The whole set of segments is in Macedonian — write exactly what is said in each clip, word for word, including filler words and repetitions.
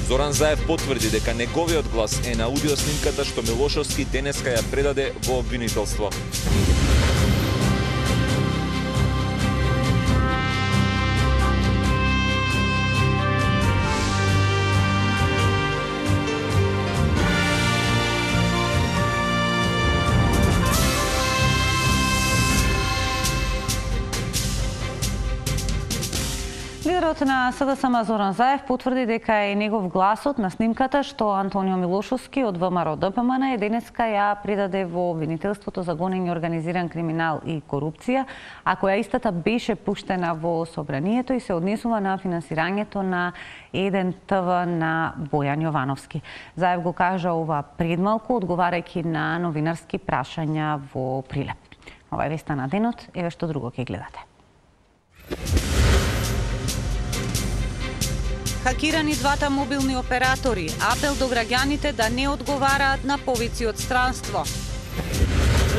Зоран Заев потврди дека неговиот глас е на аудио снимката што Милошовски денеска ја предаде во обвинителство. Лидерот на СДСМ Зоран Заев потврди дека е негов гласот на снимката што Антонио Милошовски од ВМРО Д П М Н денеска ја предаде во обвинителството за гонење организиран криминал и корупција, а која истата беше пуштена во собранието и се однесува на финансирањето на еден Т В на Бојан Јовановски. Заев го кажа ова предмалку, одговарајќи на новинарски прашања во Прилеп. Ова е веста на денот, еве што друго ќе гледате. Хакирани двата мобилни оператори, апел до граѓаните да не одговараат на повици од странство.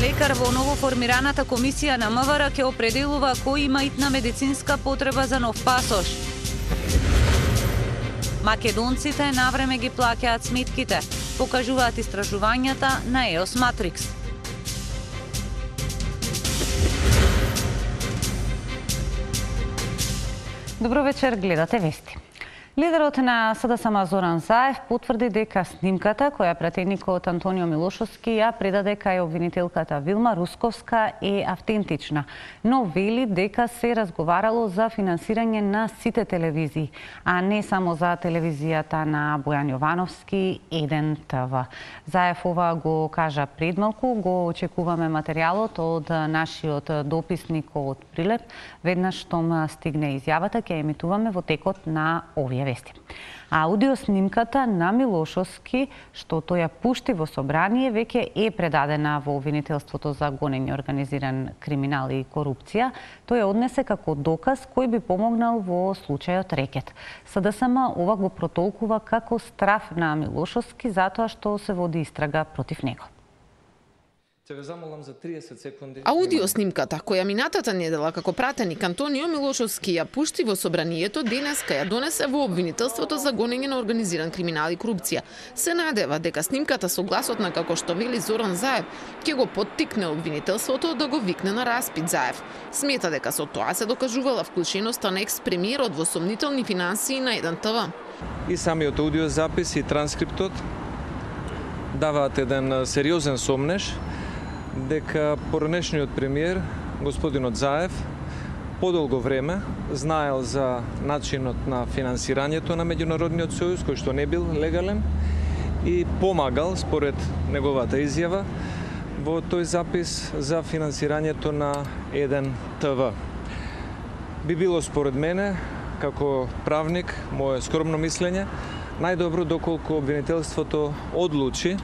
Лекар во новоформираната комисија на М В Р ќе определува кој има итна медицинска потреба за нов пасош. Македонците навреме ги плаќаат сметките, покажуваат истражувањата на Е О С Матрикс. Добро вечер, гледате вести. Лидерот на СДСМ Зоран Заев потврди дека снимката која пратеникот Антонио Милошовски ја предаде кај обвинителката Вилма Русковска е автентична, но вели дека се разговарало за финансирање на сите телевизии, а не само за телевизијата на Бојан Јовановски еден Т В. Заев ова го кажа предмалку, го очекуваме материјалот од нашиот дописник од Прилеп. Веднаш штом стигне изјавата, ќе емитуваме во текот на овие вести. А аудиоснимката на Милошовски, што тој ја пушти во собрание, веќе е предадена во обвинителството за гонење организиран криминал и корупција. Тој ја однесе како доказ кој би помогнал во случајот Рекет. СДСМ ова го протолкува како страф на Милошовски затоа што се води истрага против него. Аудиоснимката, која минатата недела како пратеник Антонио Милошовски ја пушти во собранието, денеска ја донесе во обвинителството за гонење на организиран криминал и корупција. Се надева дека снимката со гласот на, како што вели Зоран Заев, ќе го поттикне обвинителството да го викне на распит. Заев смета дека со тоа се докажувала вклученоста на екс-премиерот во сомнителни финансии на еден Т В. И самиот аудиозапис и транскриптот даваат еден сериозен сомнеж дека поранешниот премиер, господинот Заев, подолго време знаел за начинот на финансирањето на меѓународниот сојуз, кој што не бил легален, и помагал, според неговата изјава, во тој запис за финансирањето на еден Т В. Би било според мене, како правник, моје скромно мислење, најдобро доколку обвинителството одлучи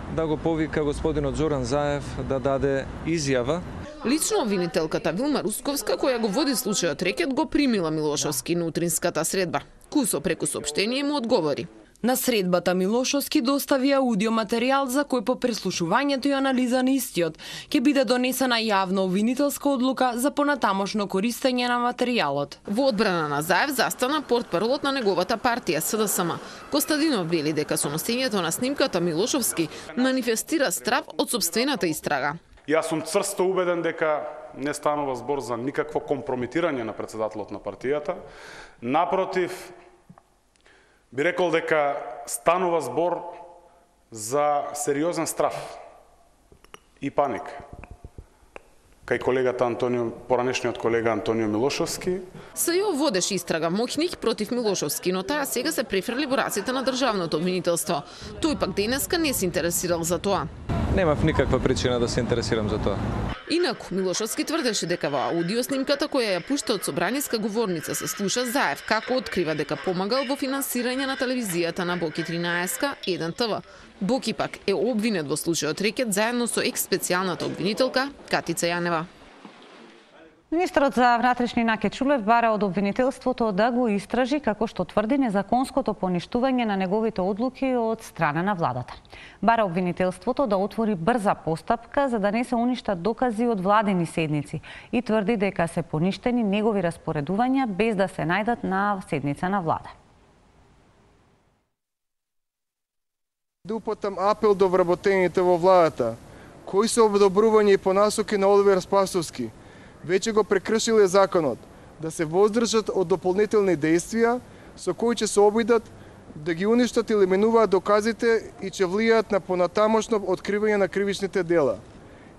да го повика господинот Зоран Заев да даде изјава. Лично обвинителката Вилма Русковска, која го води случајот Рекет, го примила Милошовски на утринската средба. Кусо преку соопштение му одговори. На средбата Милошовски достави аудиоматеријал за кој по преслушувањето и анализа на истиот ќе биде донесена јавна обвинителска одлука за понатамошно користење на материјалот. Во одбрана на Заев застана портпаролот на неговата партија СДСМ. Костадинов вели дека со носењето на снимката Милошовски манифестира страв од сопствената истрага. Јас сум цврсто убеден дека не станува збор за никакво компрометирање на претседателот на партијата. Напротив, би рекол дека станува збор за сериозен страф и паник кај колегата Антонио, поранешниот колега Антонио Милошовски. СЈО водеше истрага моќник против Милошовски, но таа сега се префрли во раците на државното обвинителство. Тој пак денеска не се интересирал за тоа. Немав никаква причина да се интересирам за тоа. Инаку, Милошовски тврдеше дека во аудиоснимката која ја пушта од собраниска говорница се слуша Заев како открива дека помагал во финансирање на телевизијата на Боки тринаесет еден Т В. Боки пак е обвинет во случајот Рекет заедно со екс-специјалната обвинителка Катица Јанева. Министерот за внатрешни Наке Чулев бара од обвинителството да го истражи како што тврди незаконското поништување на неговите одлуки од страна на владата. Бара обвинителството да отвори брза постапка за да не се уништат докази од владени седници и тврди дека се поништени негови распоредувања без да се најдат на седница на влада. да упатам апел до вработените во владата, кои се одобрување и понасоки на Оливер Спасовски, веќе го прекршиле законот, да се воздржат од дополнителни действија со кои ќе се обидат да ги уништат или менуваат доказите и ќе влијаат на понатамошно откривање на кривичните дела.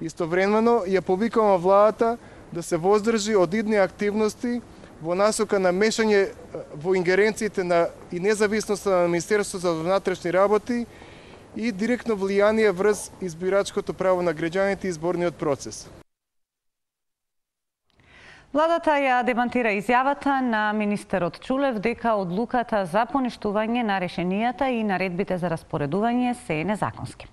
Истовремено ја повикувам владата да се воздржи од идни активности во насока на мешање во ингеренциите на и независноста на Министерството за внатрешни работи и директно влијание врз избирачкото право на граѓаните и изборниот процес. Владата ја демантира изјавата на министерот Чулев дека одлуката за поништување на решенијата и наредбите за распоредување се е незаконски.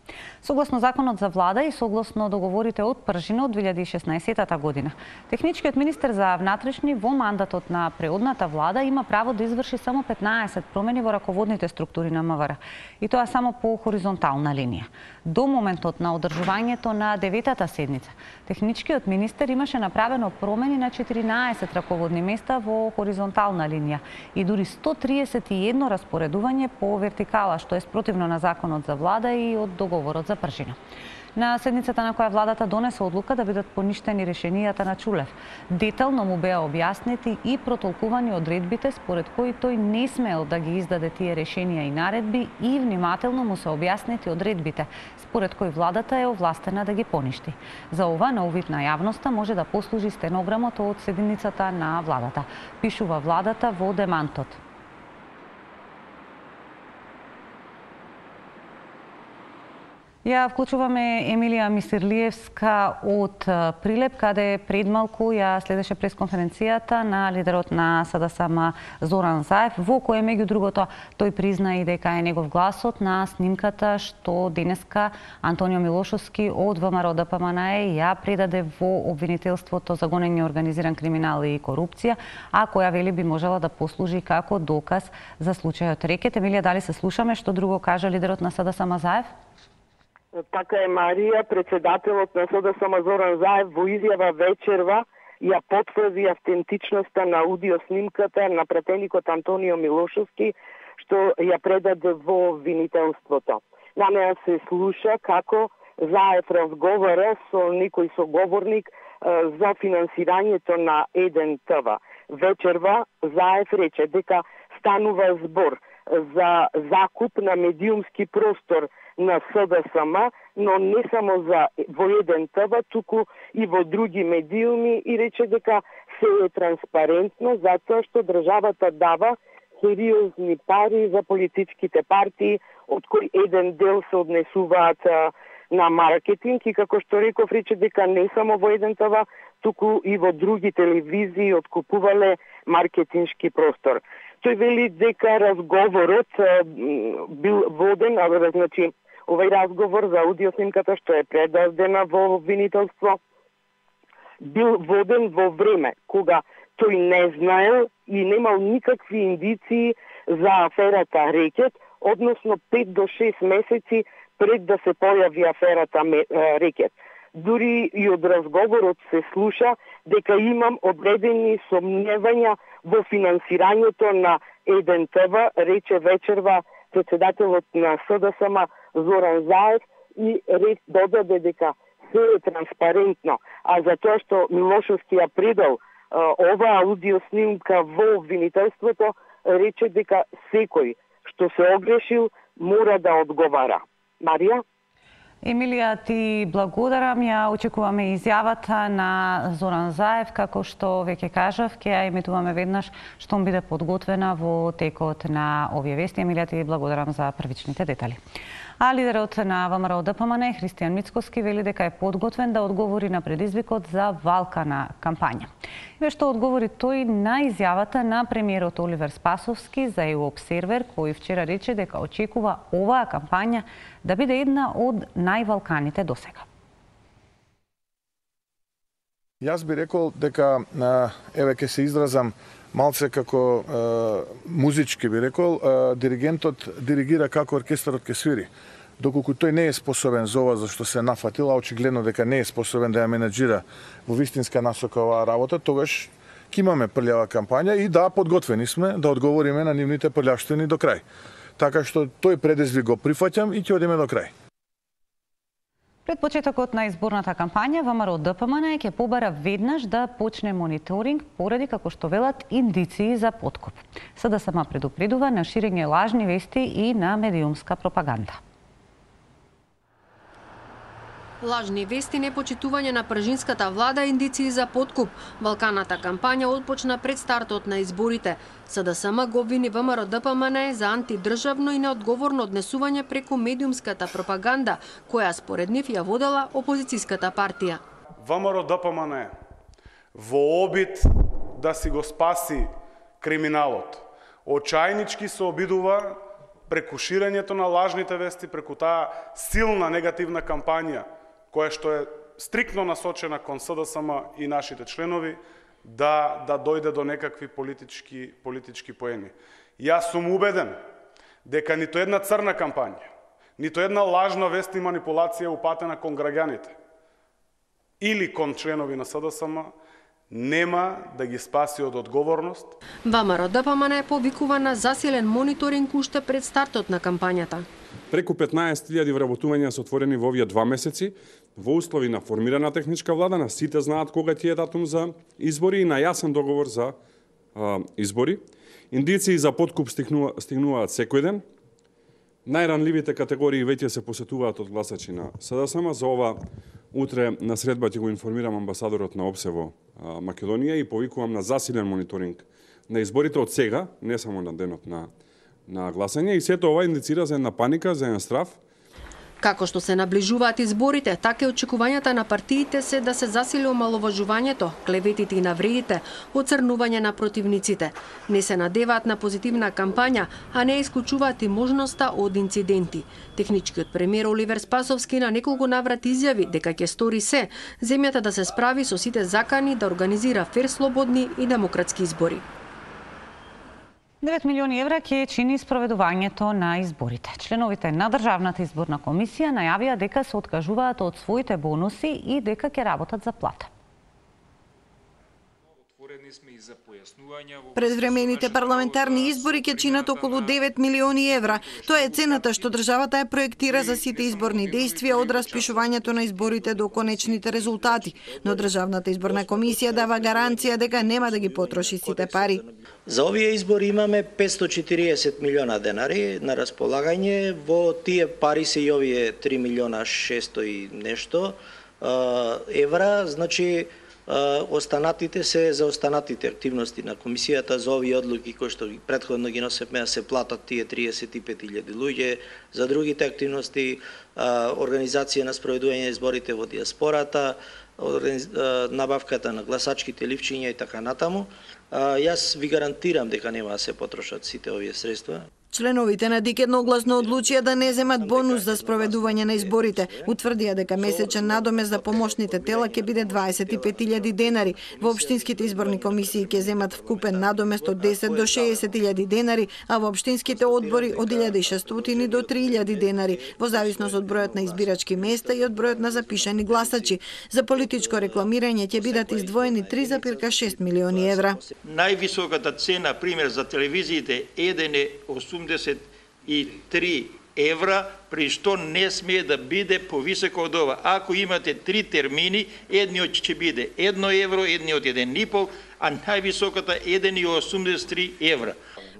Согласно законот за влада и согласно договорите од пржина од две илјади и шеснаесетта година, техничкиот министер за внатрешни во мандатот на преодната влада има право да изврши само петнаесет промени во раководните структури на МВР, и тоа само по хоризонтална линија. До моментот на одржувањето на деветата седница, техничкиот министер имаше направено промени на четиринаесет раководни места во хоризонтална линија и дури сто триесет и едно распоредување по вертикала, што е спротивно на законот за влада и од договорот за пржина. На седницата на која владата донесе одлука да бидат поништени решенијата на Чулев, детално му беа објаснети и протолкувани одредбите според кои тој не смел да ги издаде тие решенија и наредби и внимателно му се објаснети одредбите според кои владата е овластена да ги поништи. За ова на увид на јавноста може да послужи стенограмот од седницата на владата, пишува владата во демантот. Ја вклучуваме Емилија Мисирлиевска од Прилеп, каде пред малку ја следеше пресконференцијата на лидерот на СДСМ Зоран Заев, во која меѓу другото тој призна и дека е негов гласот на снимката што денеска Антонио Милошовски од ВМРО Д П М Н Е ја предаде во обвинителството за гонење организиран криминал и корупција, а која вели би можела да послужи како доказ за случајот Рекет. Емилија, дали се слушаме што друго кажа лидерот на СДСМ Заев? Така е, Марија, председателот на СДСМ Зоран Заев во изјава вечерва ја потврди автентичноста на аудио снимката на пратеникот Антонио Милошовски, што ја предаде во обвинителството. На неа се слуша како Заев разговара со некој соговорник за финансирањето на еден Т В. Вечерва Заев рече дека станува збор за закуп на медиумски простор на СДСМ, но не само за во еден Т В, туку и во други медиуми, и рече дека се е транспарентно затоа што државата дава сериозни пари за политичките партии, од кои еден дел се однесуваат на маркетинг, и како што реков, рече дека не само во еден Т В, туку и во други телевизии откупувале маркетиншки простор. Тој вели дека разговорот бил воден, а значи овај разговор за аудиоснимката што е предадена во обвинителство бил воден во време кога тој не знаел и немал никакви индиции за аферата Рекет, односно пет до шест месеци пред да се појави аферата Рекет. Дури и од разговорот се слуша дека имам одредени сомневања во финансирањето на еден Т В, рече вечерва председателот на СДСМ Зоран Заев, и ред додаде дека се е транспарентно, а за тоа што Милошовски ја предал ова аудио снимка во обвинителството, рече дека секој што се огрешил мора да одговара. Марија? Емилија, ти благодарам. Ја очекуваме изјавата на Зоран Заев, како што веќе кажав, ќе ја емитуваме веднаш што биде подготвена во текот на овие вести. Емилија, ти благодарам за првичните детали. А лидерот на ВМРО Д П М Н Е Христијан Мицкоски вели дека е подготвен да одговори на предизвикот за валкана кампања. И што одговори тој на изјавата на премиерот Оливер Спасовски за Еу Обсервер, кој вчера рече дека очекува оваа кампања да биде една од највалканите досега. Јас би рекол дека, еве ќе се изразам малце како е, музички би рекол, е, диригентот диригира како оркестарот ќе свири. Доколку тој не е способен за ова за што се нафатил, а очигледно дека не е способен да ја менеджира во вистинска насока оваа работа, тогаш ќе имаме прљава кампања и да, подготвени сме да одговориме на нивните прљавштини до крај. така што тој предизвик го прифаќам и ќе одиме до крај. Пред почетокот на изборната кампања, ВМРО Д П М Н ќе побара веднаш да почне мониторинг поради, како што велат, индиции за подкуп. С Д С М предупредува на ширење лажни вести и на медиумска пропаганда. Лажни вести, непочитување на пржинската влада, индиции за подкуп. Балканата кампања отпочна пред стартот на изборите. С Д С М го обвини ВМРО Д П М Н за антидржавно и неодговорно однесување преку медиумската пропаганда, која според нив ја водела опозицијската партија. ВМРО Д П М Н во обид да си го спаси криминалот, очајнички се обидува преку ширењето на лажните вести, преку таа силна негативна кампања, која што е стриктно насочена кон С Д С М и нашите членови, да да дојде до некакви политички политички поени. Јас сум убеден дека нито една црна кампања, нито една лажна вест и манипулација упатена кон граѓаните или кон членови на С Д С М нема да ги спаси од одговорност. ВМРО Д П М Н повикува на засилен мониторинг уште пред стартот на кампањата. Преку петнаесет илјади вработувања се отворени во овие два месеци, во услови на формирана техничка влада, на сите знаат кога ќе е датум за избори и на јасен договор за а, избори. Индиции за подкуп стигнува, стигнуваат секој ден. Најранливите категории веќе се посетуваат од гласачи на С Д С М. За ова утре на средба ќе го информирам амбасадорот на ОПСЕ во Македонија и повикувам на засилен мониторинг на изборите од сега, не само на денот на на гласање, и сето ова индицира за една паника, за еден страв. Како што се наближуваат изборите, така и очекувањата на партиите се да се засили омаловажувањето, клеветите и навредите, оцрнување на противниците. Не се надеваат на позитивна кампања, а не исклучуваат и можноста од инциденти. Техничкиот премиер Оливер Спасовски на неколку наврати изјави дека ќе стори се земјата да се справи со сите закани да организира фер, слободни и демократски избори. девет милиони евра ќе чини спроведувањето на изборите. Членовите на Државната изборна комисија најавија дека се откажуваат од своите бонуси и дека ќе работат за плата. Предвремените парламентарни избори ќе чинат околу девет милиони евра. Тоа е цената што државата ја проектира за сите изборни дејствија од распишувањето на изборите до конечните резултати. Но Државната изборна комисија дава гаранција дека нема да ги потроши сите пари. За овие избори имаме петстотини и четириесет милиона денари на располагање. Во тие пари се и овие три милиона шестстотини и нешто евра, значи останатите се за останатите активности на комисијата за овие одлуки кои што претходно ги носевме да се платат тие триесет и пет илјади луѓе, за другите активности, организација на спроведување на изборите во диаспората, набавката на гласачките ливчиња и така натаму. Јас ви гарантирам дека нема да се потрошат сите овие средства. Членовите на ДИК едногласно одлучија да не земат бонус за спроведување на изборите. Утврдија дека месечен надомест за помошните тела ќе биде дваесет и пет илјади денари. Во општинските изборни комисии ќе земат вкупен надомест од десет до шеесет илјади денари, а во општинските одбори од илјада и шестстотини до три илјади денари, во зависност од бројот на избирачки места и од бројот на запишани гласачи. За политичко рекламирање ќе бидат издвоени три зарез шест милиони евра. Највисоката цена, пример, за телевизиите еден е осумдесет и три евра, при што не смее да биде повисоко од ова. Ако имате три термини, едниот ќе биде едно евро, едниот еден и пол, а највисоката еден зарез осумдесет и три евра.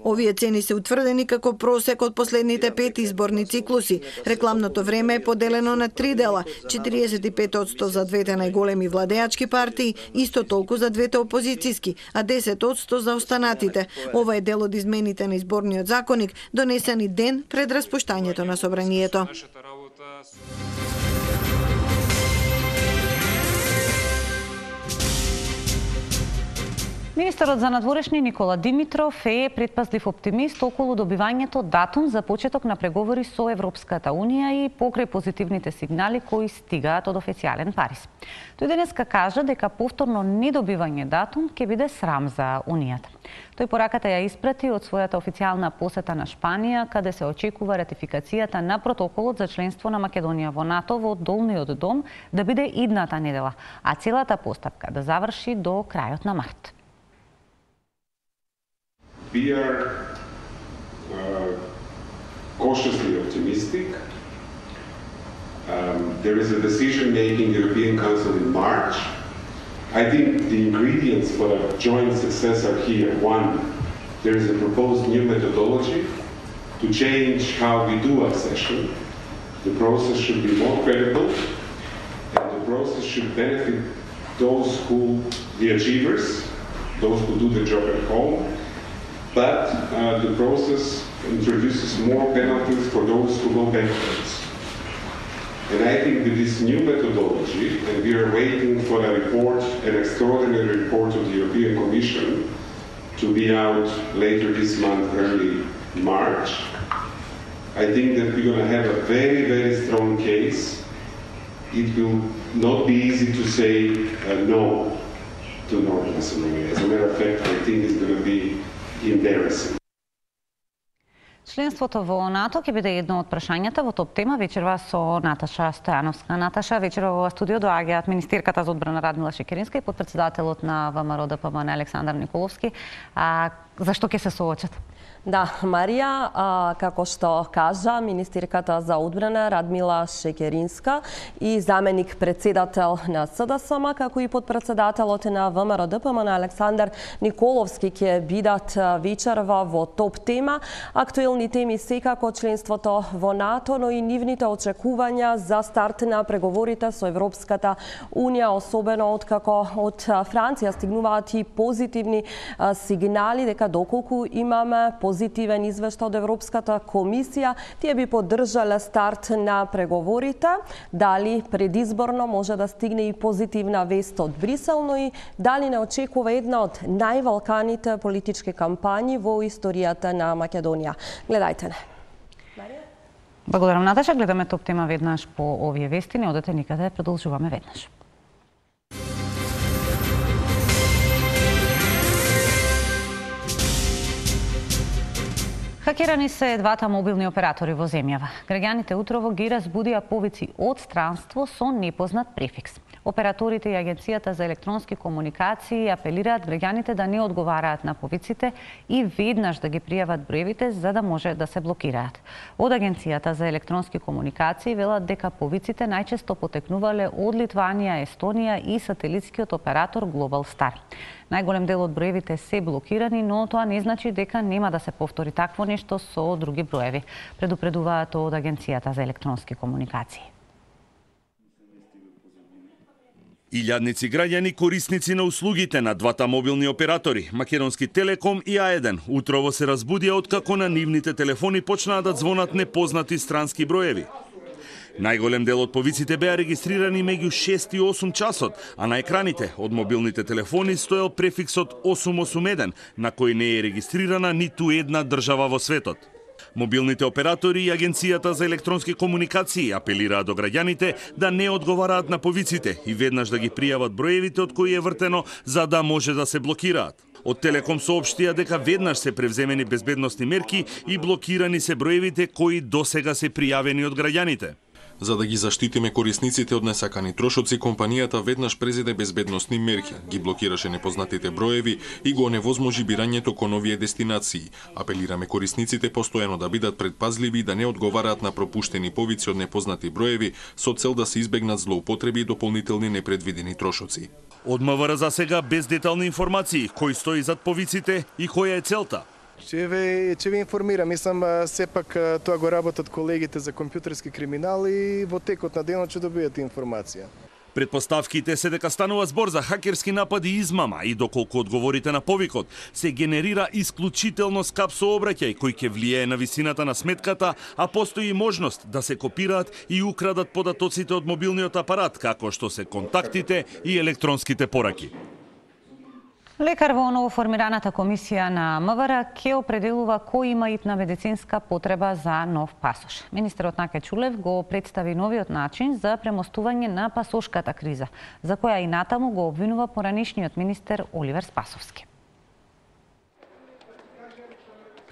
Овие цени се утврдени како просек од последните пет изборни циклуси. Рекламното време е поделено на три дела, четириесет и пет одсто за двете најголеми владеачки партии, исто толку за двете опозицијски, а десет одсто за останатите. Ова е дел од измените на изборниот законник, донесени ден пред распуштањето на собранието. Министерот за надворешни Никола Димитров е предпазлив оптимист околу добивањето датум за почеток на преговори со Европската Унија и покрај позитивните сигнали кои стигаат од официјален Париз. Тој денеска кажа дека повторно недобивање датум ќе биде срам за Унијата. Тој пораката ја испрати од својата официјална посета на Шпанија, каде се очекува ратификацијата на протоколот за членство на Македонија во НАТО во Долниот дом да биде идната недела, а целата постапка да заврши до крајот на март. We are uh, cautiously optimistic. Um, there is a decision-making European Council in March. I think the ingredients for a joint success are here. One, there is a proposed new methodology to change how we do accession. The process should be more credible, and the process should benefit those who, the achievers, those who do the job at home, but uh, the process introduces more penalties for those who go backwards. And I think with this new methodology, and we are waiting for a report, an extraordinary report of the European Commission to be out later this month, early March, I think that we're going to have a very, very strong case. It will not be easy to say uh, no to North Macedonia. As a matter of fact, I think it's going to be embarrassing. Членството во НАТО ќе биде едно од прашањата во топ тема вечерва со Наташа Стојановска. Наташа, вечерва во студио доаѓаат министерката за одбрана Радмила Шекеринска и потпредседателот на ВМРО Д П М Н Александар Николовски. А зашто ќе се соочат? Да, Марија, а, како што кажа министерката за одбрана Радмила Шекеринска и заменик председател на С Д С М, како и подпредседателот на ВМРО Д П М Н Александар Николовски ќе бидат вечерва во топ тема. Актуелни теми секако членството во НАТО, но и нивните очекувања за старт на преговорите со Европската Унија, особено откако од Франција стигнуваат и позитивни а, сигнали дека доколку имаме позитивен извештај од Европската комисија, тие би поддржале старт на преговорите. Дали предизборно може да стигне и позитивна вест од Брисел, но и дали не очекува една од највалканите политички кампањи во историјата на Македонија. Гледајте не. Благодарам, Наташа. Гледаме топ тема веднаш по овие вести. Не одете никаде, продолжуваме веднаш. Хакерани се двата мобилни оператори во земјава. Граѓаните утрово ги разбудија повици од странство со непознат префикс. Операторите и Агенцијата за електронски комуникации апелираат граѓаните да не одговараат на повиците и веднаш да ги пријават броевите за да може да се блокираат. Од Агенцијата за електронски комуникации велат дека повиците најчесто потекнувале од Литванија, Естонија и сателитскиот оператор Global Star. Најголем дел од броевите се блокирани, но тоа не значи дека нема да се повтори такво нешто со други броеви, предупредуваат од Агенцијата за електронски комуникации. Илјадници граѓани корисници на услугите на двата мобилни оператори, Македонски Телеком и А еден, утрово се разбудија откако на нивните телефони почнаа да звонат непознати странски броеви. Најголем дел од повиците беа регистрирани меѓу шест и осум часот, а на екраните од мобилните телефони стоел префиксот осум осум еден, на кој не е регистрирана ниту една држава во светот. Мобилните оператори и Агенцијата за електронски комуникации апелираат до граѓаните да не одговараат на повиците и веднаш да ги пријават броевите од кои е вртено за да може да се блокираат. Од Телеком соопштија дека веднаш се превземени безбедносни мерки и блокирани се броевите кои досега се пријавени од граѓаните. За да ги заштитиме корисниците од несакани трошоци, компанијата веднаш презеде безбедносни мерки, ги блокираше непознатите броеви и го оневозможи бирањето кон овие дестинации. Апелираме корисниците постојано да бидат предпазливи и да не одговараат на пропуштени повици од непознати броеви со цел да се избегнат злоупотреби и дополнителни непредвидени трошоци. Од М В Р за сега без детални информации кој стои зад повиците и која е целта. Ќе ве, ќе ве информирам, мислам сепак тоа го работат колегите за компјутерски криминал и во текот на денот ќе добиете информација. Предпоставките се дека станува збор за хакерски напади и измама и доколку одговорите на повикот, се генерира исклучително скап сообраќај кој ќе влијае на висината на сметката, а постои можност да се копираат и украдат податоците од мобилниот апарат, како што се контактите и електронските пораки. Лекар во новоформираната комисија на М В Р ќе определува кој има итна медицинска потреба за нов пасош. Министерот Наке Чулев го представи новиот начин за премостување на пасошката криза, за која и натаму го обвинува поранишниот министер Оливер Спасовски.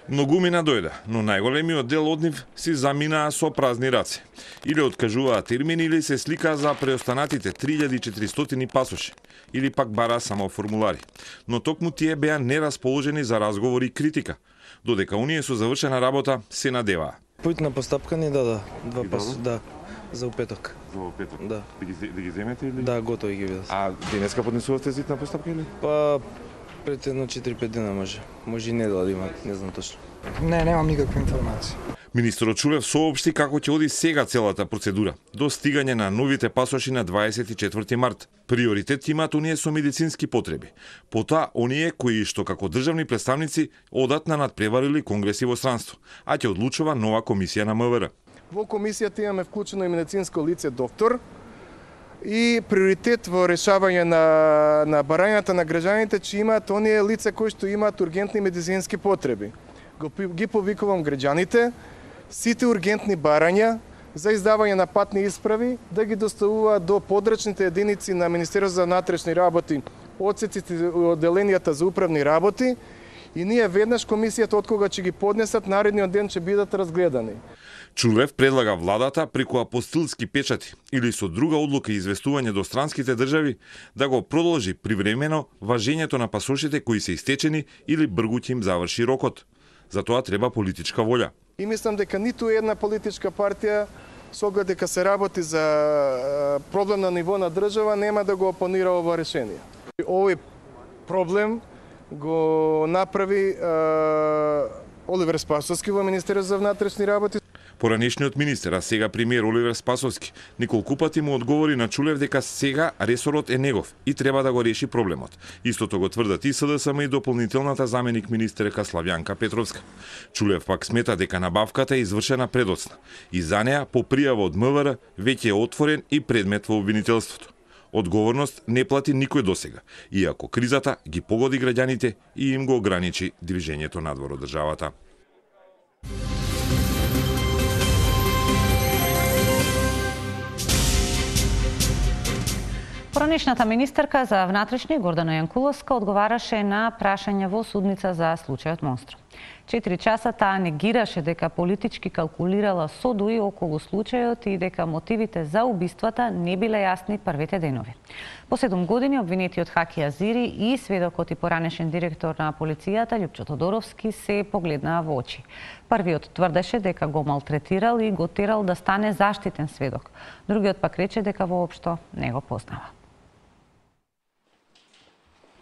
Многумина дојде, но најголемиот дел од нив си заминаа со празни раце. Или откажуваа термини, или се сликаа за преостанатите три илјади и четиристотини пасоши, или пак бараа само формулари. Но токму тие беа нерасположени за разговори и критика, додека оние со завршена работа се надеваа. Поитна постапка ни дада два пас, да, за упеток. За упеток? Да. Да ги, да ги земете или? Да, готови ги видов. А денеска поднесувавте зитна постапка или? Па пред едно четири-пет дена може. Може и недела да има, не знам точно. Не, немам никаква информација. Министерот Чулев соопшти како ќе оди сега целата процедура до стигање на новите пасоши на дваесет и четврти март. Приоритет имаат оние со медицински потреби. Потоа оние кои што како државни представници одат на надпреварили конгреси во странство, а ќе одлучува нова комисија на МВР. Во комисијата имаме вклучено и медицинско лице доктор и приоритет во решавање на, на барањата на граѓаните, че имаат оние лица кои што имаат ургентни медицински потреби. Ги повикувам граѓаните, сите ургентни барања за издавање на патни исправи да ги доставуваат до подрачните единици на Министерството за внатрешни работи, одсеците и одделенијата за управни работи, и ние веднаш комисијата од кога ќе ги поднесат, наредниот ден ќе бидат разгледани. Чулев предлага владата преку апостилски печати или со друга одлука и известување до странските држави да го продолжи привремено важењето на пасошите кои се истечени или бргу ќе им заврши рокот. За тоа треба политичка волја. И мислам дека ниту една политичка партија, со оглед дека се работи за проблем на ниво на држава, нема да го опонира ова решение. Овој проблем го направи е, Оливер Спасовски во Министерството за внатрешни работи. Поранешниот министер, а сега премиер Оливер Спасовски, неколку пати му одговори на Чулев дека сега ресорот е негов и треба да го реши проблемот. Истото го тврдат и СДСМ и дополнителната заменик министерка Славјанка Петровска. Чулев пак смета дека набавката е извршена предоцна и за неа по пријава од МВР веќе е отворен и предмет во обвинителството. Одговорност не плати никој досега, иако кризата ги погоди граѓаните и им го ограничи движењето надвор од државата. Поранешната министерка за внатрешни Гордана Јанкуловска одговараше на прашања во судница за случајот Монструм. Четири часа таа негираше дека политички калкулирала со ДУИ околу случајот и дека мотивите за убиствата не биле јасни првите денови. По седум години обвинетиот Хаки Азири и сведокот и поранешен директор на полицијата Љупчо Тодоровски се погледнаа во очи. Првиот тврдеше дека го малтретирал и го терал да стане заштитен сведок. Другиот пак рече дека воопшто не го познава.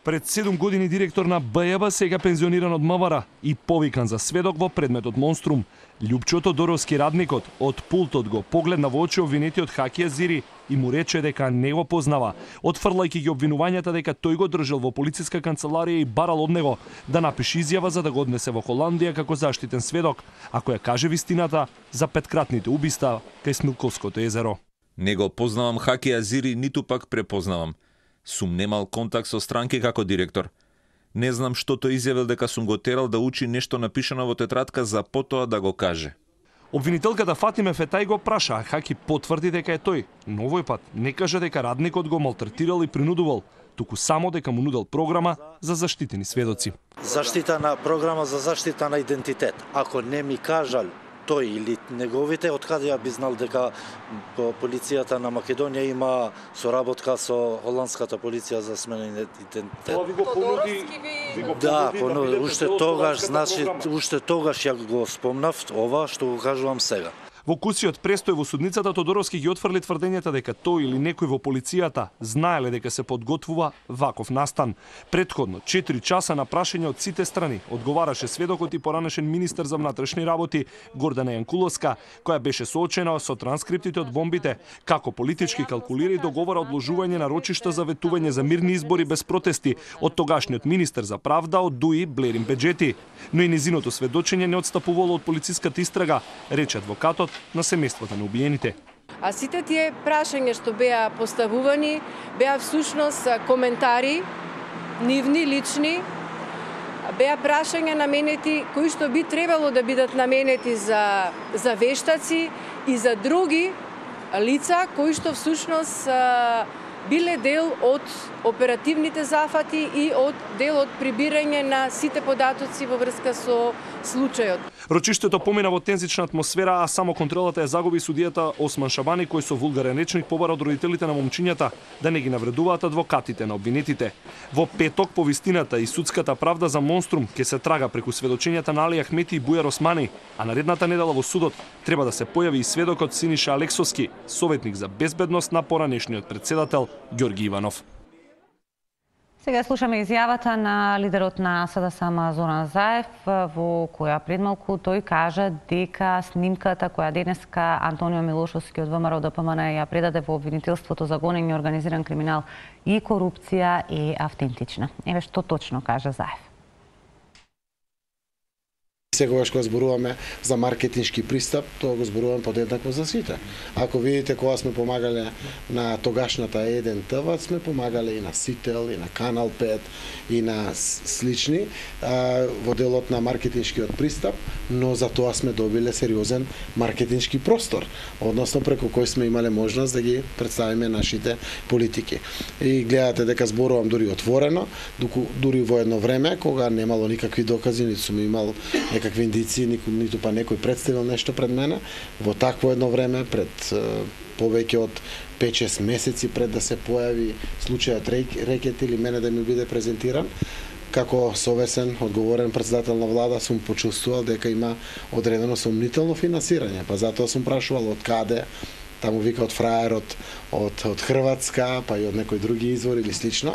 Пред седум години директор на Б Ј Б, сега пензиониран од МВР и повикан за сведок во предметот Монструм. Љупчо Тодоровски, радникот, од пултот го погледна во очи обвинетиот Хаки Азири и му рече дека не го познава, отфрлајќи ги обвинувањата дека тој го држал во полициска канцеларија и барал од него да напише изјава за да го однесе во Холандија како заштитен сведок, ако ја каже вистината за петкратните убиства кај Смилковското езеро. Не го познавам Хаки Азири, ниту пак препознавам. Сум немал контакт со странки како директор. Не знам што тој изјавил дека сум го терал да учи нешто напишано во тетрадка за потоа да го каже. Обвинителката Фатиме Фетај го праша, а Хаки потврди дека е тој. Но овој пат не кажа дека радникот го малтретирал и принудувал, туку само дека му нудел програма за заштитени сведоци. Заштита на програма за заштита на идентитет. Ако не ми кажал тој или неговите, откаде ја би знал дека полицијата на Македонија има соработка со холандската полиција за сменење идентитет. Тоа ви го понуди, ви го Да, понуди, понуди, да уште тогаш, значи, уште тогаш ја го спомнав ова што го кажувам сега. Во кусиот престој во судницата Тодоровски ги отфрли тврдењата дека тој или некој во полицијата знаеле дека се подготвува ваков настан. Претходно четири часа на прашање од сите страни одговараше сведокот и поранешен министер за внатрешни работи Гордана Јанкуловска, која беше соочена со транскриптите од бомбите, како политички калкулира и договара одложување на рочишта за ветување за мирни избори без протести од тогашниот министер за правда од ДУИ Блерин Беџети. Но и незиното сведочење не отстапувало од полициската истрага, рече адвокатот на семејствата на убиените. А сите тие прашања што беа поставувани, беа всушност коментари, нивни, лични, беа прашања наменети кои што би требало да бидат наменети за, за вештаци и за други лица кои што всушност биле дел од оперативните зафати и од дел од прибирање на сите податоци во врска со случајот. Рочиштето помина во тензична атмосфера, а само контролата ја загуби судијата Осман Шабани, кој со вулгарен речник побара од родителите на момчињата да не ги навредуваат адвокатите на обвинетите. Во петок повистината и судската правда за Монструм ќе се трага преку сведочењата на Али Ахмети и Бујар Османи, а наредната недела во судот треба да се појави и сведокот Синиша Алексовски, советник за безбедност на поранешниот председател Ѓорги Иванов. Сега слушаме изјавата на лидерот на СДСМ Зоран Заев, во која пред малку тој кажа дека снимката која денеска Антонио Милошовски од ВМРО Д П М Н ја предаде во обвинителството за гонење организиран криминал и корупција е автентична. Еве што точно кажа Заев. Секогаш кога зборуваме за маркетиншки пристап, тоа го зборуваме подеднакво за сите. Ако видите кога сме помагале на тогашната Е еден Т В, сме помагале и на Сител, и на Канал пет, и на слични во делот на маркетиншкиот пристап, но за тоа сме добиле сериозен маркетиншки простор, односно преку кој сме имале можност да ги представиме нашите политики. И гледате дека зборувам дури отворено, дури во едно време кога немало никакви докази, ниту сум имал некакви индици, ниту па некој представил нешто пред мене, во такво едно време, пред повеќе од пет-шест месеци пред да се појави случајот Рекет или мене да ми биде презентиран, како совесен, одговорен председател на влада, сум почувствувал дека има одредено сомнително финансирање, па затоа сум прашувал од каде, таму вика од фраерот, од, од Хрватска, па и од некој други извор или слично.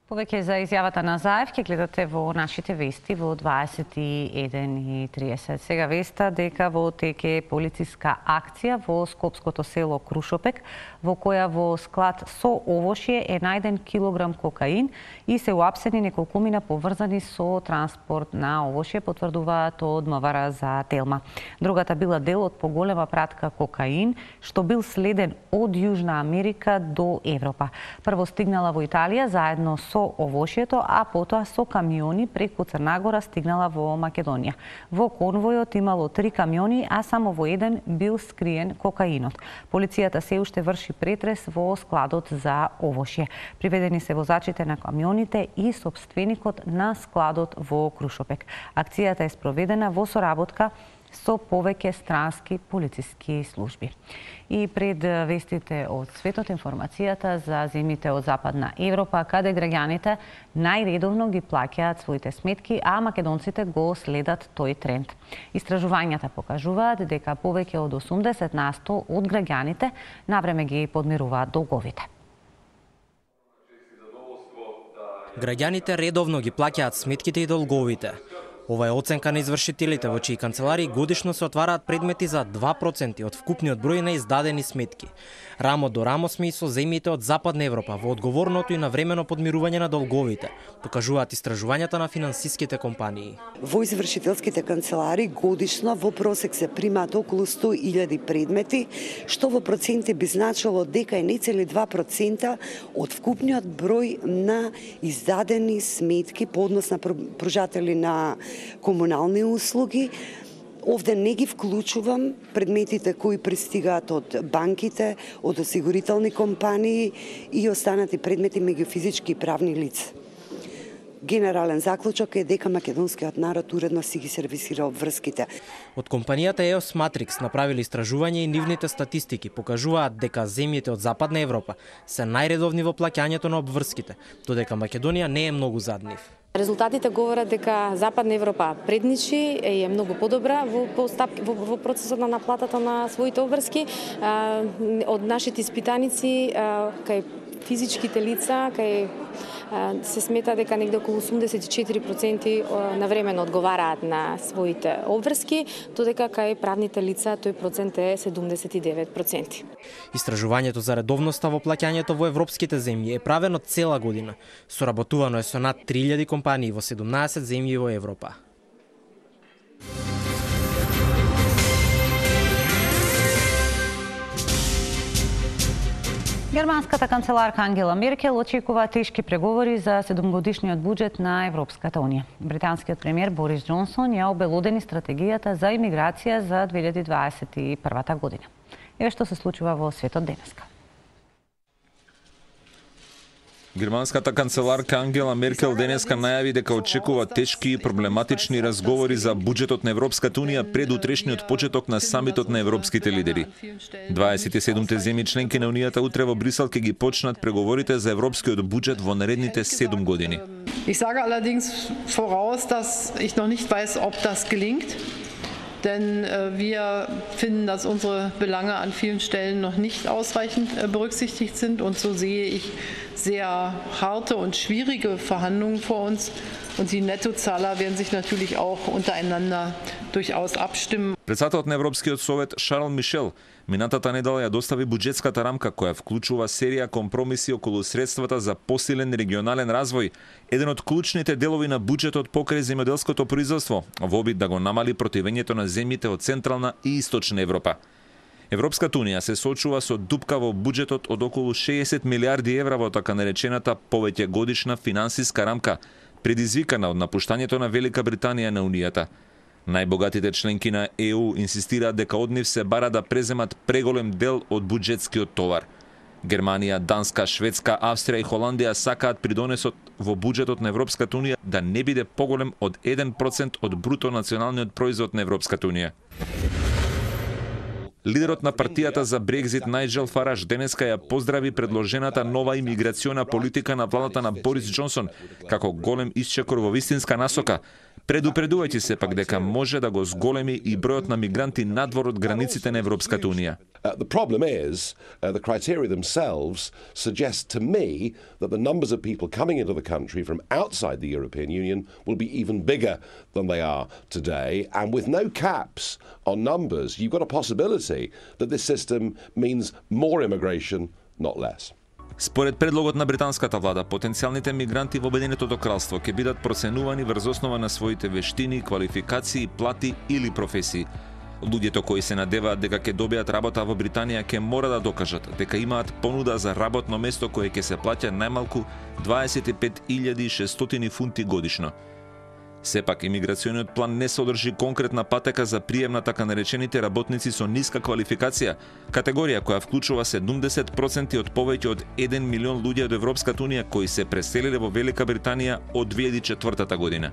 Повеќе за изјавата на Заев ќе гледате во нашите вести во дваесет и еден и триесет. Сега веста дека во теке полициска акција во скопското село Крушопек, во која во склад со овошје е најден килограм кокаин и се уапсени неколкумина поврзани со транспорт на овошје, потврдуваат од М В Р за Телма. Другата била дел од поголема пратка кокаин, што бил следен од Јужна Америка до Европа. Прво стигнала во Италија заедно со овошјето, а потоа со камиони преку Црнагора стигнала во Македонија. Во конвојот имало три камиони, а само во еден бил скриен кокаинот. Полицијата се уште врши претрес во складот за овошје. Приведени се возачите на камионите и сопственикот на складот во Крушопек. Акцијата е спроведена во соработка со повеќе странски полициски служби. И пред вестите од светот, информацијата за земјите од Западна Европа, каде граѓаните најредовно ги плаќаат своите сметки, а македонците го следат тој тренд. Истражувањата покажуваат дека повеќе од осумдесет на сто од граѓаните навреме ги подмируваат долговите. Граѓаните редовно ги плаќаат сметките и долговите. Ова е оценка на извршителите во чии канцелари годишно се отвараат предмети за два проценти од вкупниот број на издадени сметки. Рамо до рамо сме и со земјите од Западна Европа во одговорното и навремено подмирување на долговите, покажуваат истражувањата на финансиските компании. Во извршителските канцелари годишно во просек се примаат околу сто илјади предмети, што во проценти би значило дека е не цели два процента од вкупниот број на издадени сметки по однос на пружатели на комунални услуги. Овде не ги вклучувам предметите кои пристигаат од банките, од осигурителни компании и останати предмети меѓу физички и правни лица. Генерален заклучок е дека македонскиот народ уредно си ги сервисира обврските. Од компанијата и о ес Matrix направили истражување и нивните статистики покажуваат дека земјите од Западна Европа се најредовни во плаќањето на обврските, додека Македонија не е многу зад нив. Резултатите говорат дека Западна Европа предничи и е многу подобра во, постапки, во, во процесот на наплатата на своите обврски. Од нашите испитаници кај физичките лица, кај се смета дека негде околу осумдесет и четири проценти навремено одговараат на своите обврски, додека кај правните лица тој процент е седумдесет и девет проценти. Истражувањето за редовноста во плаќањето во европските земји е правено цела година. Соработувано е со над три илјади компании во седумнаесет земји во Европа. Германската канцеларка Ангела Меркел очекува тешки преговори за седумгодишниот буџет на Европската унија. Британскиот премиер Борис Џонсон ја обелодени стратегијата за имиграција за две илјади дваесет и прва година. Еве што се случува во светот денеска. Германската канцеларка Ангела Меркел денеска најави дека очекува тешки и проблематични разговори за буџетот на Европската унија пред утрешниот почеток на самитот на европските лидери. дваесет и седумте земји членки на унијата утре во Брисел ќе ги почнат преговорите за европскиот буџет во наредните седум години. Ich sage allerdings voraus, dass ich noch nicht weiß, ob das gelingt. Denn äh, wir finden, dass unsere Belange an vielen Stellen noch nicht ausreichend äh, berücksichtigt sind. Und so sehe ich sehr harte und schwierige Verhandlungen vor uns. Und die Nettozahler werden sich natürlich auch untereinander durchaus abstimmen. Председателот на Европскиот совет Шарл Мишел минатата недела ја достави буџетската рамка која вклучува серија компромиси околу средствата за посилен регионален развој, еден од клучните делови на буџетот покрај земјоделското производство, во обид да го намали противењето на земјите од Централна и Источна Европа. Европската унија се соочува со дупка во буџетот од околу шеесет милиарди евра во така наречената повеќе годишна финансиска рамка, предизвикана од напуштањето на Велика Британија на унијата. Најбогатите членки на Е У инсистираат дека од нив се бара да преземат преголем дел од буџетскиот товар. Германија, Данска, Шведска, Австрија и Холандија сакаат придонесот во буџетот на Европската унија да не биде поголем од еден процент од бруто националниот производ на Европската унија. Лидерот на партијата за Брекзит Најджел Фараж денеска ја поздрави предложената нова имиграциона политика на владата на Борис Џонсон како голем исчекор во вистинска насока, предупредувајќи се пак дека може да го зголеми и бројот на мигранти надвор од границите на Европската унија. Uh, the problem is, uh, the criteria themselves suggest to me that the numbers of people coming into the country from outside the European Union will be even bigger than they are today. And with no caps on numbers, you've got a possibility that this system means more immigration, not less. Според предлогот на британската влада, потенцијалните мигранти во Обединетото кралство ќе бидат проценувани врз основа на своите вештини, квалификации, плати или професии. Луѓето кои се надеваат дека ќе добијат работа во Британија ќе мора да докажат дека имаат понуда за работно место кое ќе се плаќа најмалку дваесет и пет илјади и шестстотини фунти годишно. Сепак, имиграциониот план не содржи конкретна патека за прием на така наречените работници со ниска квалификација, категорија која вклучува седумдесет проценти од повеќе од еден милион луѓе од Европската унија кои се преселиле во Велика Британија од две илјади и четвртата година.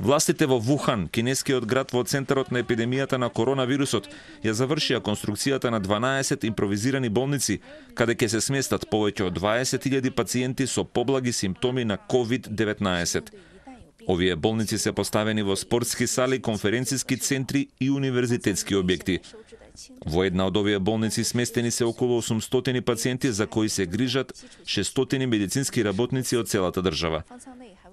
Властите во Вухан, кинескиот град во центарот на епидемијата на коронавирусот, ја завршија конструкцијата на дванаесет импровизирани болници, каде ќе се сместат повеќе од дваесет илјади пациенти со поблаги симптоми на ковид деветнаесет. Овие болници се поставени во спортски сали, конференциски центри и универзитетски објекти. Во една од овие болници сместени се околу осумстотини пациенти за кои се грижат шестстотини медицински работници од целата држава.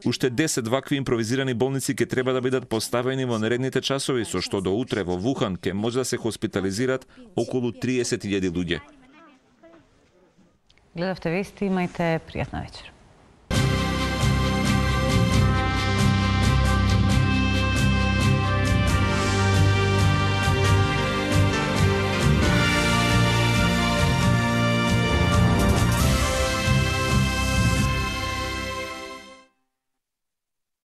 Уште десет вакви импровизирани болници ќе треба да бидат поставени во наредните часови, со што до утре во Вухан ќе може да се хоспитализират околу триесет илјади луѓе. Гледавте вести, имајте пријатна вечер.